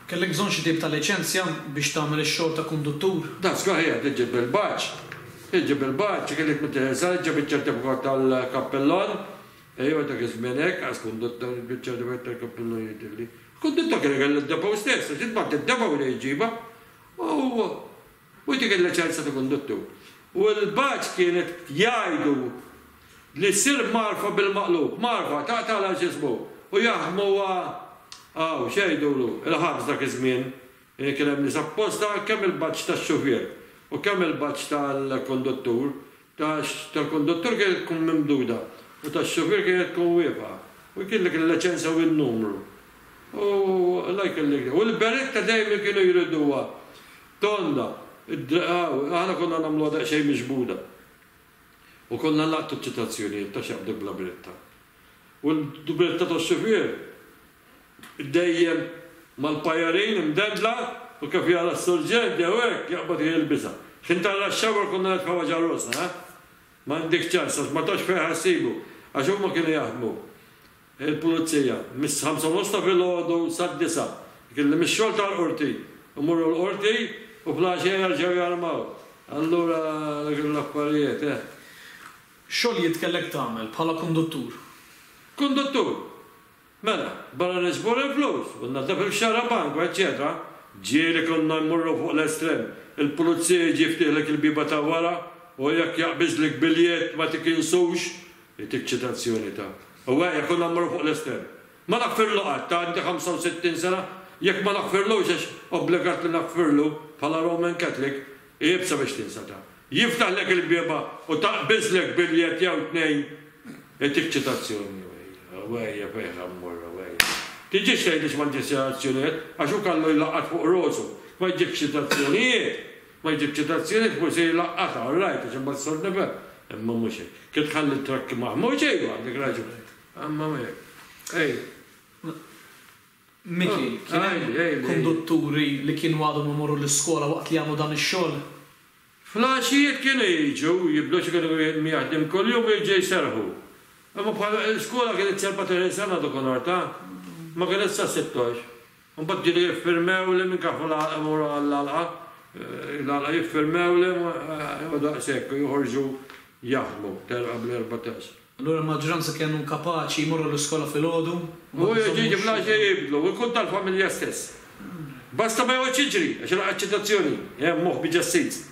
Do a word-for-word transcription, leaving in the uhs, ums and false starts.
Kellek bżonn xi tip ta' liċenzja biex tagħmel ix-xogħol ta' konduttur? Da żgur ħija, tiġib il-badge. Tiġib il-badge, kellek mit-teħesal, ġib iċ-ċertifikat tal-kappellon. Ejwa, dak iż-żmien hekk, għax konduttur biċ-ċertifikat tal-kappellon jidhirli. Konduttur kien kellu d-depot stess, għax intbagħat id-depot li jġibha. U u dik il-liċenzja ta' konduttur. U l-badge kienet jgħidu li ssir marfa bil-maqlub, marfa, taqtagħla x'ismu, u jaħdmu għaw, x'jgħidulu, il-ħabs dak iż-żmien, kien hemm nies apposta kemm il-badge tax-xufier u kemm il-badge tal-konduttur, tal-konduttur kienet tkun mimduda u tax-xufier kienet tkun wieqfa. U kellek il-liċenzja u n-numru. U la jkellek. U l-beretta dejjem kienu jriduha tonda. Aħna konna nagħmluha daqsxejn miġbuda. U konna nlaqtu ċitazzjonijiet ta' x'jaqbduk bla beretta. U l-beretta tax-xufier dejjem mal-pajarin imdendla u kif jara s-surġent jew hekk jaqbad jilbisha. X'ħin tara x-xawar konna nitfgħuha ġo rosna, eh? Ma għandekx ċans għax ma tafx fejn ħa ssibu. Għax huma kienu jaħdmu il-pulizija mis-ħamsa u nofs ta' filgħodu sad-disgħa. Kien li mix-xogħol tal-qorti imorru l-qorti u fl-għaxija jerġgħu jarmaw. Allura dak l-affarijiet, eh. Xogħlijiet kellek tagħmel bħala konduttur? Konduttur? Mela, barra niġbor il-flus u nnaddaf il-xarabank u eċċetera, ġieli konna mmorru fuq l-estrem, il-pulizija jiġi jiftiħlek il-bieba ta' wara u jekk jaqbiżlek biljett ma tikinsux, jtik ċitazzjoni ta'. U ejja, konna mmorru fuq l-estrem. Ma naħfirlu qatt, ta' għandi ħamsa u sittin sena, jekk ma naħfirlux għax obbligat li naħfirlu bħala Roman Catholic, iebsa biex tinsa ta'. Jiftaħlek il-bieba u taqbiżlek biljett jew tnejn, jtik ċitazzjoni. Ejja, fejn ħa mmorru, ejja. Tiġix tgħidli x'ma ġġib ċitazzjonijiet, għax hu kellu jlaqqat fuq rosu. Ma jġibx ċitazzjonijiet, ma jġib ċitazzjonijiet, forsi jlaqqatha, all right, għax imbagħad sor nifhem. Imma mhux hekk. Kif tħalli t-trakki maħmuġ, ejwa, għandek raġun. Imma mhux hekk. Ej. Miki, kien hemm kondutturi li kienu għadhom imorru l-iskola waqt li jagħmlu dan ix-xogħol? Fl-għaxijiet kienu jiġu, jibdew xi kienu jaħdem kuljum jiġu jserħu. Imma bħala l-iskola kienet erbatax-il sena dakinhar ta', ma kienet sa sittax. Imbagħad ġieli jiffirmew li minn kafu l-għalqa imorru għall-għalqa, l-għalqa jiffirmew li u daqshekk u joħorġu jaħdmu telqa bl-erbatax. Allura l-maġġoranza kienu kapaċi jmorru l-iskola filgħodu? U jiġi fl-għaxija jibdlu, u jkun tal-familja stess. Basta ma joqgħodx jiġri, għax ilaqgħat ċitazzjoni, hemm moħbi ġas-seats.